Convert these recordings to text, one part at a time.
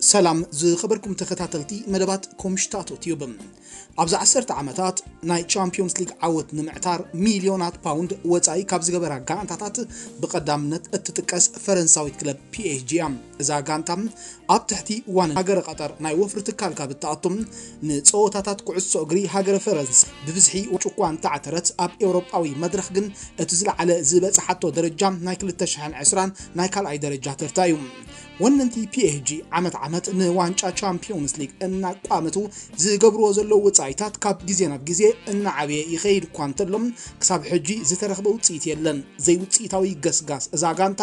ሰላም ዝኸበርኩም ተኸታተልቲ መደባት ኮምሽታቶ ቲዩብ። ኣብዚ ዓሰርተ ዓመታት ናይ ቻምፒዮንስ ሊግ ዓወት ንምዕታር ሚልዮናት ፓውንድ ወጻኢ ካብ ዝገበራ ጋንታታት ብቐዳምነት እትጥቀስ ፈረንሳዊት ክለብ ፒኤስጂ እያ። እዛ ጋንታ ኣብ ትሕቲ ዋና ሃገረ ቀጠር ናይ ወፍሪ ትካል ካብ እትኣቱ፣ ንጸወታታት ኩዕሶ እግሪ ሃገረ ፈረንሳ ብብዝሒ ዋንጫ እኳ እንተዓተረት፣ ኣብ ኤውሮጳዊ መድረኽ ግን እቲ ዝለዓለ ዝበጽሓቶ ደረጃ ናይ ክልተ ሽሕን ዕስራን ናይ ካልኣይ ደረጃ ተርታ እዩ። ወነንቲ ፒኤስጂ ዓመት ዓመት ንዋንጫ ቻምፒዮንስ ሊግ እናቋመቱ ዝገብርዎ ዘለዉ ወጻኢታት ካብ ግዜ ናብ ግዜ እናዓበየ ይኸይድ እኳ እንተሎ፣ ክሳብ ሕጂ ዝተረኽበ ውጽኢት የለን። ዘይውጽኢታዊ ገስጋስ እዛ ጋንታ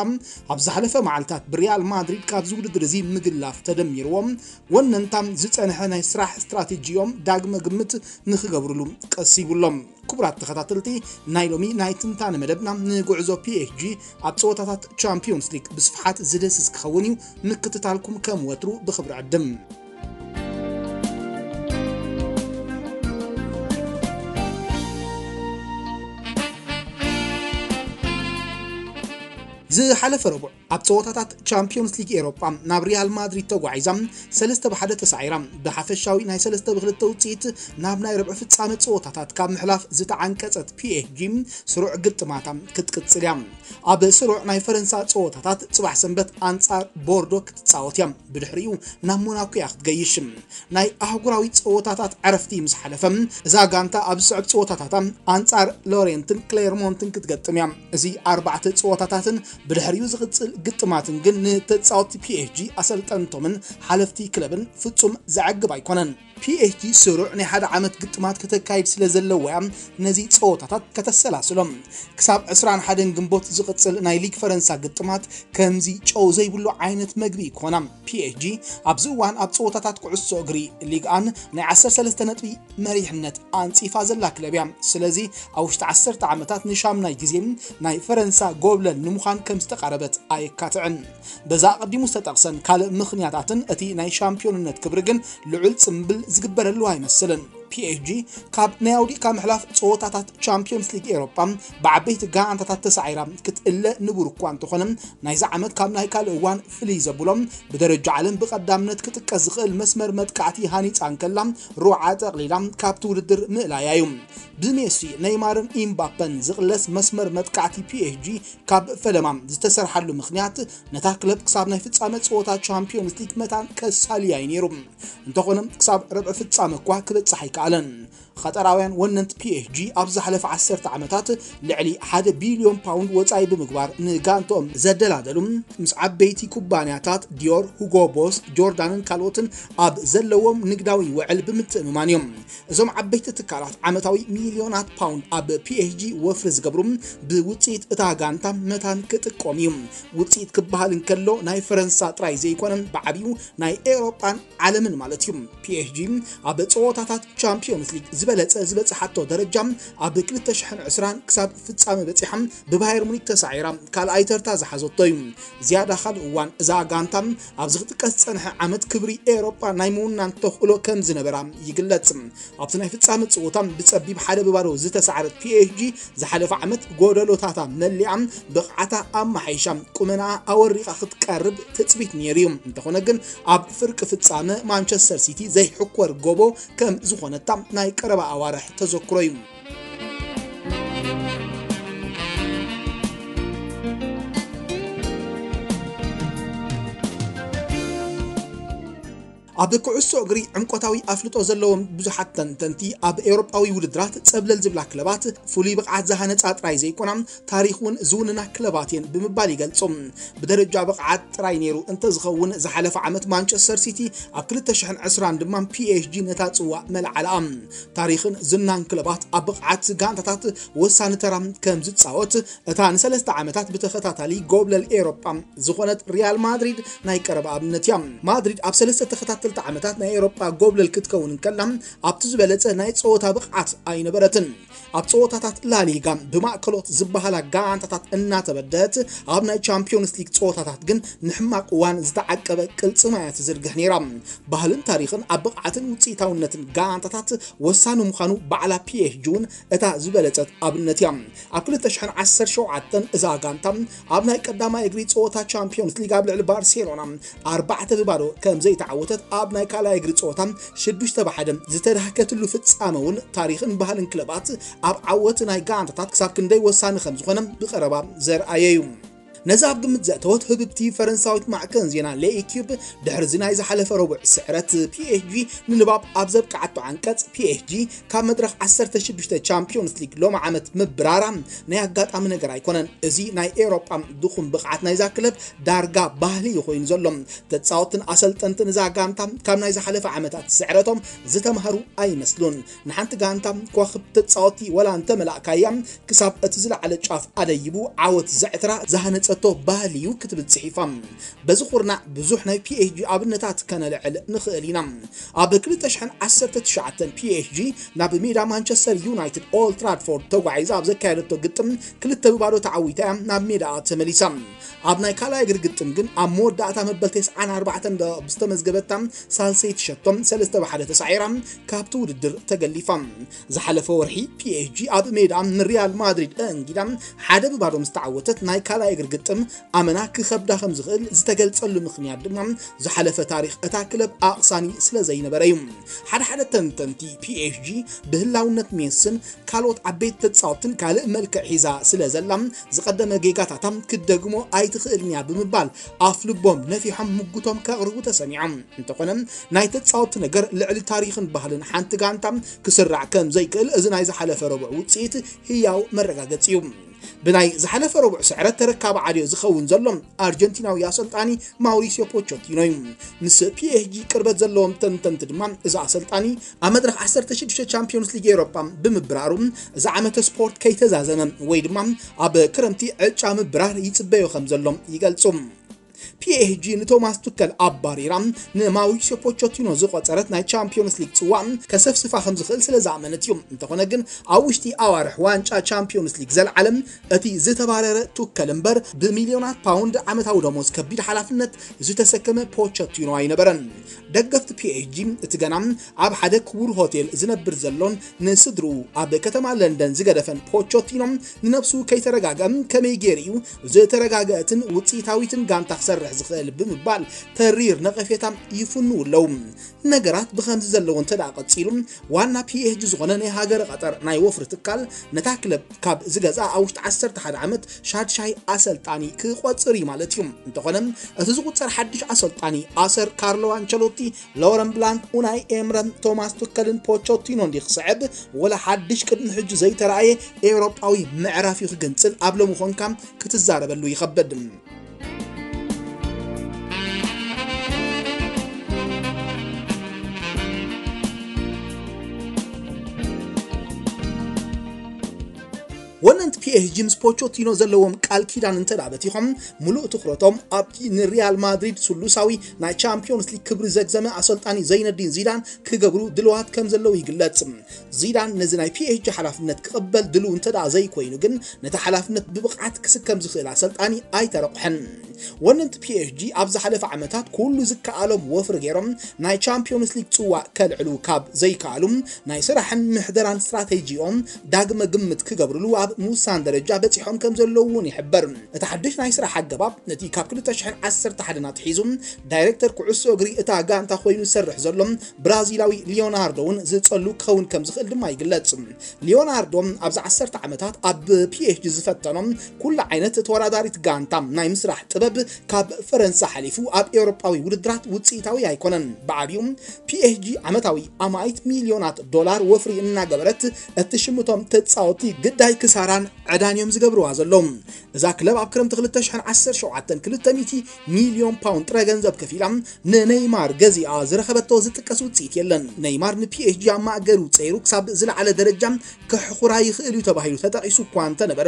ኣብ ዝሓለፈ መዓልታት ብሪያል ማድሪድ ካብዚ ውድድር እዚ ምግላፍ ተደሚርዎም፣ ወነንታ ዝጸንሐ ናይ ስራሕ ስትራቴጂኦም ዳግመ ግምት ንኽገብርሉ ቀሲቡሎም። ክቡራት ተኸታተልቲ ናይ ሎሚ ናይ ትንታነ መደብና፣ ንጉዕዞ ፒኤስጂ ኣብ ጸወታታት ቻምፒዮንስ ሊግ ብስፍሓት ዝደስስ ክኸውን እዩ። ምክትታልኩም ከም ወትሩ ብኽብሪ ዕድም። ዝሓለፈ ረቡዕ ኣብ ጸወታታት ቻምፒዮንስ ሊግ ኤሮጳ ናብ ሪያል ማድሪድ ተጓዒዛ ሰለስተ ብሓደ ተሳዒራ፣ ብሓፈሻዊ ናይ ሰለስተ ብክልተ ውጽኢት ናብ ናይ ርብዒ ፍጻመ ጸወታታት ካብ ምሕላፍ ዝተዓንቀጸት ፒኤስጂ ስሩዕ ግጥማታ ክትቅጽል እያ። ኣብ ስሩዕ ናይ ፈረንሳ ጸወታታት ጽባሕ ሰንበት ኣንጻር ቦርዶ ክትጻወት እያ። ብድሕሪኡ ናብ ሞናኮ እያ ክትገይሽ። ናይ ኣህጉራዊ ጸወታታት ዕረፍቲ ምስ ሓለፈ፣ እዛ ጋንታ ኣብ ዝስዕብ ጸወታታታ ኣንጻር ሎሬንትን ክሌርሞንትን ክትገጥም እያ። እዚ ኣርባዕተ ጸወታታትን ብድሕሪኡ ዝቕጽል ግጥማትን ግን ንተጻወትቲ ፒኤስጂ፣ ኣሰልጠንቶምን ሓለፍቲ ክለብን ፍጹም ዘዕግብ ኣይኮነን። ፒኤስጂ ስሩዕ ናይ ሓደ ዓመት ግጥማት ከተካይድ ስለ ዘለዋ እያ ነዚ ጸወታታት ከተሰላስሎም። ክሳብ ዕስራን ሓደን ግንቦት ዝቕጽል ናይ ሊግ ፈረንሳ ግጥማት ከምዚ ጨው ዘይብሉ ዓይነት መግቢ ይኮና። ፒኤስጂ ኣብዚ እዋን ኣብ ጸወታታት ኩዕሶ እግሪ ሊግ ኣን ናይ ዓሰርተ ሰለስተ ነጥቢ መሪሕነት ኣንጺፋ ዘላ ክለብ እያ። ስለዚ ኣብ ውሽጢ ዓሰርተ ዓመታት ንሻምናይ ግዜ ናይ ፈረንሳ ጎብለል ንምዃን ከም ዝተቓረበት ኣየካትዕን። በዛ ኣቐዲሙ ዝተጠቕሰን ካልእ ምኽንያታትን እቲ ናይ ሻምፒዮንነት ክብሪ ግን ልዑል ጽምብል ዝግበረሉ ኣይመስልን። ፒኤስጂ ካብ ናይ ኣውዲቕካ ምሕላፍ ጸወታታት ቻምፒዮንስ ሊግ ኤሮጳ ብዓበይቲ ጋንታታት ተሳዒራ ክትእለ ንቡር እኳ እንተኾነ፣ ናይዚ ዓመት ካብ ናይ ካልእ እዋን ፍልይ ዘብሎ፣ ብደረጃ ዓለም ብቐዳምነት ክጥቀስ ዝኽእል መስመር መጥቃዕቲ ሃኒጻ እንከላ፣ ሩዓ ጠቕሊላ ካብቲ ውድድር ምእላያ እዩ። ብሜሲ፣ ኔይማርን ኢምባፐን ዝቕለስ መስመር መጥቃዕቲ ፒኤስጂ ካብ ፈለማ ዝተሰርሓሉ ምኽንያት፣ ነታ ክለብ ክሳብ ናይ ፍጻመ ጸወታ ቻምፒዮንስ ሊግ መታን ከሳልያ እዩ ነይሩ። እንተኾነ፣ ክሳብ ርብዒ ፍጻመ እኳ ክበጽሕ ኣይከኣለን። ኸጠራውያን ወነንቲ ፒኤስጂ ኣብ ዝሓለፈ ዓሰርተ ዓመታት ልዕሊ ሓደ ቢልዮን ፓውንድ ወጻኢ ብምግባር ንጋንትኦም ዘደላደሉ፣ ምስ ዓበይቲ ኩባንያታት ዲዮር፣ ሁጎ ቦስ፣ ጆርዳንን ካልኦትን ኣብ ዘለዎም ንግዳዊ ውዕል ብምትእምማን እዮም። እዞም ዓበይቲ ትካላት ዓመታዊ ሚልዮናት ፓውንድ ኣብ ፒኤስጂ ወፍሪ ዝገብሩ፣ ብውጽኢት እታ ጋንታ መታን ክጥቀሙ እዩ። ውጽኢት ክበሃል እንከሎ ናይ ፈረንሳ ጥራይ ዘይኮነ፣ ብዓቢኡ ናይ ኤውሮጳን ዓለምን ማለት እዩ። ፒኤስጂ ኣብ ጸወታታት ቻምፒዮንስ ሊግ ዝበለጸ ዝበጽሓቶ ደረጃ፣ ኣብ ክልተ ሽሕን ዕስራን ክሳብ ፍጻመ በጺሓ ብባየር ሙኒክ ተሳዒራ ካልኣይ ተርታ ዝሓዘቶ እዩ። ዝያዳ ካልእ እዋን እዛ ጋንታ ኣብዚ ክጥቀስ ዝጸንሐ ዓመት ክብሪ ኤውሮጳ ናይ ምውናን ተኽእሎ ከም ዝነበራ ይግለጽ። ኣብቲ ናይ ፍጻመ ጽወታ ብጸቢብ ሓደ ብባዶ ዝተሳዕረት ፒኤስጂ ዝሓለፈ ዓመት ጎደሎታታ መሊኣ ብቕዓታ ኣመሓይሻ ቁመናኣ ኣወሪቓ ክትቀርብ ትጽቢት ነይሩ እዩ። እንተኾነ ግን ኣብ ፍርቂ ፍጻመ ማንቸስተር ሲቲ ዘይሕኮር ጎቦ ከም ዝኾነታ ናይ ቀረባ ኣዋርሕ ተዘክሮ እዩ። ኣብ ኩዕሶ እግሪ ዕምቆታዊ ኣፍልጦ ዘለዎም ብዙሓት ተንተንቲ፣ ኣብ ኤውሮጳዊ ውድድራት ጸብለል ዝብላ ክለባት ፍሉይ ብቕዓት ዝሃነጻ ጥራይ ዘይኮና፣ ታሪኽ እውን ዝውንና ክለባት እየን ብምባል ይገልጹ። ብደረጃ ብቕዓት ጥራይ ነይሩ እንተዝኸውን፣ ዝሓለፈ ዓመት ማንቸስተር ሲቲ፣ ኣብ ክልተ ሽሕን ዕስራን ድማ ፒኤስጂ ነታ ጽዋእ መልዓለኣ። ታሪኽን ዝናን ክለባት ኣብ ብቕዓት ጋንታታት ወሳኒ ተራ ከም ዝጻወት፣ እታ ንሰለስተ ዓመታት ብተኸታታሊ ጎብለል ኤውሮጳ ዝኾነት ሪያል ማድሪድ ናይ ቀረባ ኣብነት እያ። ማድሪድ ኣብ ሰለስተ ተኸታተ ክልተ ዓመታት ናይ ኤውሮጳ ጎብለል ክትከውን እንከላ፣ ኣብቲ ዝበለጸ ናይ ጸወታ ብቕዓት ኣይነበረትን። ኣብ ጸወታታት ላሊጋ ብማእከሎት ዝበሃላ ጋንታታት እናተበደት፣ ኣብ ናይ ቻምፒዮንስ ሊግ ጸወታታት ግን ንሕማቕ እዋን ዝተዓቀበ ቅልጽማ እያ ትዝርግሕ ነይራ። ባህልን ታሪኽን ኣብ ብቕዓትን ውጽኢታውነትን ጋንታታት ወሳኒ ምዃኑ ባዕላ ፒ ኤስ ጂ እውን እታ ዝበለጸት ኣብነት እያ። ኣብ ክልተ ሽሕን ዓሰርተ ሸውዓተን እዛ ጋንታ ኣብ ናይ ቀዳማይ እግሪ ጸወታ ቻምፒዮንስ ሊግ ኣብ ልዕሊ ባርሴሎና ኣርባዕተ ብባዶ ከም ዘይተዓወተት፣ ኣብ ናይ ካልኣይ እግሪ ጸወታ ሽዱሽተ ብሓደ ዝተዳህከትሉ ፍጻመ እውን ታሪኽን ባህልን ክለባት ኣብ ዓወት ናይ ጋንታታት ክሳብ ክንደይ ወሳኒ ከም ዝኾነ ብቐረባ ዘርኣየ እዩ። ነዚ ኣብ ግምት ዘእተወት ህብብቲ ፈረንሳዊት ማዕከን ዜና ሌኢኪዩብ፣ ድሕሪ እዚ ናይ ዝሓለፈ ረቡዕ ስዕረት ፒ ኤስ ጂ ንንባብ ኣብ ዘብቅዓቶ ዓንቀጽ፣ ፒ ኤስ ጂ ካብ መድረኽ ዓሰርተ ሽዱሽተ ቻምፒዮንስ ሊግ ሎም ዓመት ምብራራ ናይ ኣጋጣሚ ነገር ኣይኮነን። እዚ ናይ ኤውሮጳ ድኹም ብቕዓት ናይዛ ክለብ ዳርጋ ባህሊ እዩ ኮይኑ ዘሎ። ተጻወትን ኣሰልጠንትን እዛ ጋንታ ካብ ናይ ዝሓለፈ ዓመታት ስዕረቶም ዝተማህሩ ኣይመስሉን። ንሓንቲ ጋንታ ከዋኽብቲ ተጻወቲ ወላ እንተመላእካያ፣ ክሳብ እቲ ዝለዓለ ጫፍ ኣደይቡ ዓወት ዘዕትራ ዝሃነጸቶ ባህሊ እዩ ክትብል ጽሒፋ። በዚ ኩርናዕ ብዙሕ ናይ ፒ ኤስ ጂ ኣብነታት ከነልዕል ንኽእል ኢና። ኣብ ክልተ ሽሕን ዓሰርተ ትሽዓተን ፒ ኤስ ጂ ናብ ሜዳ ማንቸስተር ዩናይትድ ኦልድ ትራድፎርድ ተጓዒዛ ኣብ ዘካየደቶ ግጥም ክልተ ብባዶ ተዓዊታ እያ ናብ ሜዳኣ ተመሊሳ። ኣብ ናይ ካልኣይ እግሪ ግጥም ግን ኣብ መወዳእታ መበል ተስዓን ኣርባዕተን ደቂቕ ብዝተመዝገበታ ሳልሰይቲ ሸቶ ሰለስተ ብሓደ ተሳዒራ ካብቲ ውድድር ተገሊፋ። ዝሓለፈ ወርሒ ፒ ኤስ ጂ ኣብ ሜዳ ንሪያል ማድሪድ ኣእንጊዳ ሓደ ብባዶ ምስ ተዓወተት፣ ናይ ካልኣይ እግሪ ግጥም ኣመና ክኸብዳ ከም ዝኽእል ዝተገልጸሉ ምኽንያት ድማ ዝሓለፈ ታሪኽ እታ ክለብ ኣቕሳኒ ስለ ዘይነበረ እዩ። ሓደ ሓደ ተንተንቲ፣ ፒ ኤስ ጂ ብህላውነት ሜስን ካልኦት ዓበይቲ ተጻወትን ካልእ መልክዕ ሒዛ ስለ ዘላ፣ ዝቐደመ ጌጋታታ ክትደግሞ ኣይትኽእልን እያ ብምባል ኣፍ ልቦም ነፊሖም ምጉቶም ከቕርቡ ተሰሚዖም። እንተኾነ፣ ናይ ተጻወቲ ነገር ልዕሊ ታሪኽን ባህልን ሓንቲ ጋንታ ክስራዕ ከም ዘይክእል እዚ ናይ ዝሓለፈ ረቡዕ ውጽኢት ህያው መረጋገጺ እዩ። ብናይ ዝሓለፈ ረቡዕ ስዕረት ተረካቢ ዓድዮ ዝኸውን ዘሎ ኣርጀንቲናዊ ኣሰልጣኒ ማውሪሲዮ ፖቾቲኖ እዩ። ምስ ፒ ኤስ ጂ ቅርበት ዘለዎም ተንተንቲ ድማ፣ እዚ ኣሰልጣኒ ኣብ መድረኽ ዓሰርተ ሽዱሽተ ቻምፒዮንስ ሊግ ኤውሮጳ ብምብራሩ፣ እዚ ዓመተ ስፖርት ከይተዛዘመ ወይ ድማ ኣብ ክረምቲ ዕጫ ምብራር ይጽበዮ ከም ዘሎ ይገልጹ። ፒ ኤስ ጂ ንቶማስ ቱከል ኣባሪራ ንማውሪሲዮ ፖቾቲኖ ዝቆጸረት ናይ ቻምፒዮንስ ሊግ ጽዋእ ከሰፍስፋ ከም ዝኽእል ስለ ዝኣመነት እዩ። እንተኾነ ግን፣ ኣብ ውሽጢ ኣዋርሕ ዋንጫ ቻምፒዮንስ ሊግ ዘልዓለ እቲ ዝተባረረ ቱከል እምበር፣ ብሚልዮናት ፓውንድ ዓመታዊ ደሞዝ ከቢድ ሓላፍነት ዝተሰከመ ፖቸቲኖ ኣይነበረን። ደገፍቲ ፒ ኤስ ጂ፣ እቲ ገና ኣብ ሓደ ክቡር ሆቴል ዝነብር ዘሎን ንስድርኡ ኣብ ከተማ ለንደን ዝገደፈን ፖቸቲኖ፣ ንነብሱ ከይተረጋግአ ከመይ ገይሩ እዩ ዝተረጋግአትን ውጽኢታዊትን ጋንታ ክሰርሕ ዝኽእል ብምባል ተሪር ነቐፌታ ይፍንዉ ኣለዉ። ነገራት ብኸምዚ ዘለዎ እንተ ደኣ ቀጺሉ፣ ዋና ፒ ኤስ ጂ ዝኾነ ናይ ሃገረ ቀጠር ናይ ወፍሪ ትካል፣ ነታ ክለብ ካብ ዝገዝኣ ኣብ ውሽጢ ዓሰርተ ሓደ ዓመት ሻድሻይ ኣሰልጣኒ ክቆጽር እዩ ማለት እዩ። እንተኾነ፣ እቲ ዝቁጸር ሓድሽ ኣሰልጣኒ ኣሰር ካርሎ ኣንቸሎቲ፣ ሎረን ብላንክ፣ ኡናይ ኤምረን፣ ቶማስ ቱከልን ፖቾቲኖን ድዩ ክስዕብ፣ ወላ ሓድሽ ቅድሚ ሕጂ ዘይተራእየ ኤውሮጳዊ ምዕራፍ እዩ ክግንጽል ኣብ ሎሚ ኮንካ ክትዛረበሉ ይኸብድ። ወነንቲ ፒ ኤስ ጂ ምስ ፖቾቲኖ ዘለዎም ቃል ኪዳን እንተ ደኣ በቲኾም፣ ምሉእ ትኹረቶም ኣብቲ ንሪያል ማድሪድ ስሉሳዊ ናይ ቻምፒዮንስ ሊግ ክብሪ ዘግዘመ ኣሰልጣኒ ዘይነዲን ዚዳን ክገብሩ ድልዋት ከም ዘለዉ ይግለጽ። ዚዳን ነዚ ናይ ፒ ኤስ ጂ ሓላፍነት ክቕበል ድልው እንተ ደኣ ዘይኮይኑ ግን፣ ነቲ ሓላፍነት ብብቕዓት ክስከም ዝኽእል ኣሰልጣኒ ኣይተረቑሐን። ወነንቲ ፒ ኤስ ጂ ኣብ ዝሓለፈ ዓመታት ኩሉ ዝከኣሎም ወፍሪ ገይሮም ናይ ቻምፒዮንስ ሊግ ጽዋእ ከልዕሉ ካብ ዘይከኣሉ፣ ናይ ስራሕን ምሕደራን ስትራቴጂኦም ዳግመ ግምት ክገብርሉ ኣብ ምውሳን ደረጃ በጺሖም ከም ዘለዉ እውን ይሕበር። እቲ ሓድሽ ናይ ስራሕ ኣገባብ ነቲ ካብ ክልተ ሽሕን ዓሰርተ ሓደን ኣትሒዙ ዳይሬክተር ኩዕሶ እግሪ እታ ጋንታ ኮይኑ ዝሰርሕ ዘሎ ብራዚላዊ ሊዮናርዶ እውን ዝጸሉ ክኸውን ከም ዝኽእል ድማ ይግለጽ። ሊዮናርዶ ኣብዚ ዓሰርተ ዓመታት ኣብ ፒ ኤስ ጂ ዝፈተኖ ኩሉ ዓይነት ተወዳዳሪት ጋንታ ናይ ምስራሕ ጥበብ ካብ ፈረንሳ ሓሊፉ ኣብ ኤውሮጳዊ ውድድራት ውጽኢታዊ ኣይኮነን። ብዓቢኡ ፒ ኤስ ጂ ዓመታዊ ኣማኢት ሚልዮናት ዶላር ወፍሪ እናገበረት እትሽምቶም ተጻወቲ ግዳይ ክሳራን ዕዳን እዮም ዝገብርዋ ዘለዉ። እዛ ክለብ ኣብ ክረምቲ ክልተ ሽሕን ዓሰርተ ሸውዓተን ክልተ ሚእቲ ሚልዮን ፓውንድ ጥረ ገንዘብ ከፊላ ንነይማር ገዚኣ ዝረኸበቶ ዝጥቀስ ውጽኢት የለን። ነይማር ን ፒ ኤስ ጂ ኣብ ማእገሩ ጸይሩ ክሳብ ዝለዓለ ደረጃ ከሕኹራ ይኽእል እዩ ተባሂሉ ተጠቒሱ እኳ እንተነበረ፣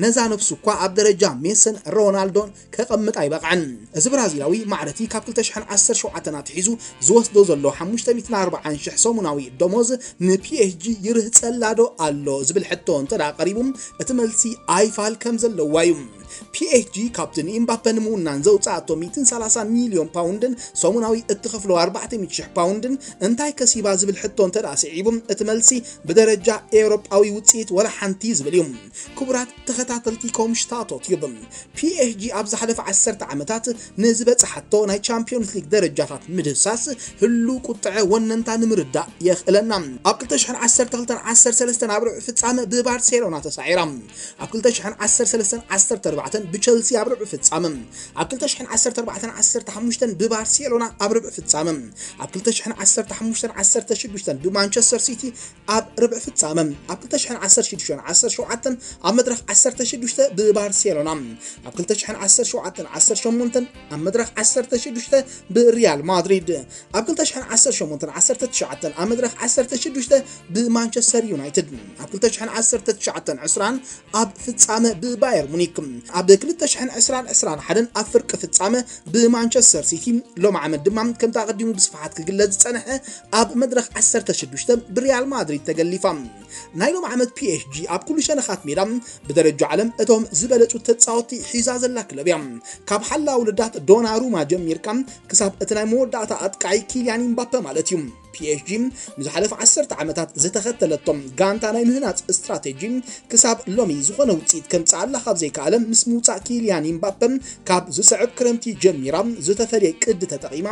ነዛ ነብሱ እኳ ኣብ ደረጃ ሜስን ሮናልዶን ከቐም ምጣ ይበቕዐን። እዚ ብራዚላዊ ማዕረቲ ካብ ክልተ ሽሕን ዓሰርተ ሸውዓተን ኣትሒዙ ዝወስዶ ዘሎ ሓሙሽተ ሚእትን ኣርባዓን ሽሕ ሰሙናዊ ደሞዝ ንፒኤስጂ ይርህጸላዶ ኣሎ ዝብል ሕቶ እንተ ደኣ ቀሪቡ፣ እቲ መልሲ ኣይፋል ከም ዘለዋ እዩ። ፒኤስጂ ካብቲ ንኢምባፔ ንምውናን ዘውፅኣቶ ሚእትን ሰላሳን ሚልዮን ፓውንድን ሰሙናዊ እትኸፍሎ ኣርባዕተ ሚእቲ ሽሕ ፓውንድን እንታይ ከሲባ ዝብል ሕቶ እንተ ደኣ ስዒቡ፣ እቲ መልሲ ብደረጃ ኤውሮጳዊ ውፅኢት ወላ ሓንቲ ዝብል እዩ። ክቡራት ተኸታተልቲ ኮምሽታቶት ዩብ፣ ፒኤስጂ ኣብ ዝሓለፈ ዓሰርተ ዓመታት ንዝበጽሓቶ ናይ ቻምፒዮንስ ሊግ ደረጃታት ምድህሳስ ህሉ ቁጥዐ ወነንታ ንምርዳእ የኽእለና። ኣብ ክልተ ሽሕን ዓሰርተ ክልተን ዓሰርተ ሰለስተን ኣብ ርብዒ ፍጻመ ብባርሴሎና ተሳዒራ። ኣብ ክልተ ሽሕን ዓሰርተ ሰለስተን ዓሰርተ ኣርባዕተን ብቸልሲ ኣብ ርብዒ ፍጻመ፣ ኣብ ክልተ ሽሕን ዓሰርተ ኣርባዕተን ዓሰርተ ሓሙሽተን ብባርሴሎና ኣብ ርብዒ ፍጻመ፣ ኣብ ክልተ ሽሕን ዓሰርተ ሓሙሽተን ዓሰርተ ሽዱሽተን ብማንቸስተር ሲቲ ኣብ ርብዒ ፍጻመ፣ ኣብ ክልተ ሽሕን ዓሰርተ ሽዱሽተን ዓሰርተ ሸውዓተን ኣብ መድረኽ ዓሰርተ ሽዱሽተ ብባርሴሎና፣ ኣብ ክልተ ሽሕን ዓሰርተ ሸውዓተን ዓሰርተ ሸሞንተን ኣብ መድረኽ ዓሰርተ ሽዱሽተ ብሪያል ማድሪድ፣ ኣብ ክልተ ሽሕን ዓሰርተ ሸሞንተን ዓሰርተ ትሽዓተን ኣብ መድረኽ ዓሰርተ ሽዱሽተ ብማንቸስተር ዩናይትድ፣ ኣብ ክልተ ሽሕን ዓሰርተ ትሽዓተን ዕስራን ኣብ ፍጻመ ብባየር ሙኒክ፣ ኣብ ክልተ ሽሕን ዕስራን ዕስራን ሓደን ኣብ ፍርቂ ፍጻመ ብማንቸስተር ሲቲ፣ ሎም ዓመት ድማ ከምቲ ኣቐዲሙ ብስፍሓት ክግለጽ ዝጸንሐ ኣብ መድረኽ ዓሰርተ ሽዱሽተ ብሪያል ማድሪድ ተገሊፋ። ናይ ሎም ዓመት ፒኤስጂ ኣብ ኩሉ ሸነኻት ሜዳ ብደረጃ ዓለም እቶም ዝበለጹ ተጻወትቲ ሒዛ ዘላ ክለብ እያ። ካብ ሓላ ውልዳት ዶናሩማ ጀሚርካ ክሳብ እቲ ናይ መወዳእታ ኣጥቃዒ ኪልያን ኢምባፔ ማለት እዩ። ፒኤስጂ ንዝሓለፈ ዓሰርተ ዓመታት ዝተኸተለቶም ጋንታ ናይ ምህናጽ ስትራቴጂ ክሳብ ሎሚ ዝኾነ ውጽኢት ከምጽኣላ ካብ ዘይከኣለ፣ ምስ ምውጻእ ኪልያን ኢምባፔ ካብ ዝስዕብ ክረምቲ ጀሚራ ዝተፈልየ ቅዲ ተጠቒማ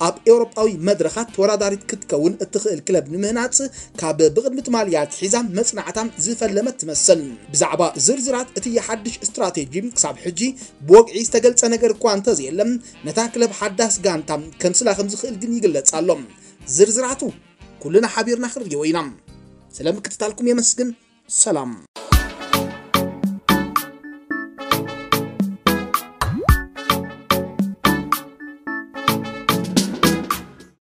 ኣብ ኤውሮጳዊ መድረኻት ተወዳዳሪት ክትከውን እትኽእል ክለብ ንምህናጽ ካብ ብቕድሚ ትማሊ ኣትሒዛ መጽናዕታ ዝፈለመት ትመስል። ብዛዕባ ዝርዝራት እቲ ሓድሽ ስትራቴጂ ክሳብ ሕጂ ብወግዒ ዝተገልጸ ነገር እኳ እንተዘየለ፣ ነታ ክለብ ሓዳስ ጋንታ ከምስላ ከም ዝኽእል ግን ይግለጽ ኣሎ። ዝርዝራቱ ኩልና ሓቢርና ክንርእዮ ኢና። ስለ ምክትታልኩም የመስግን። ሰላም።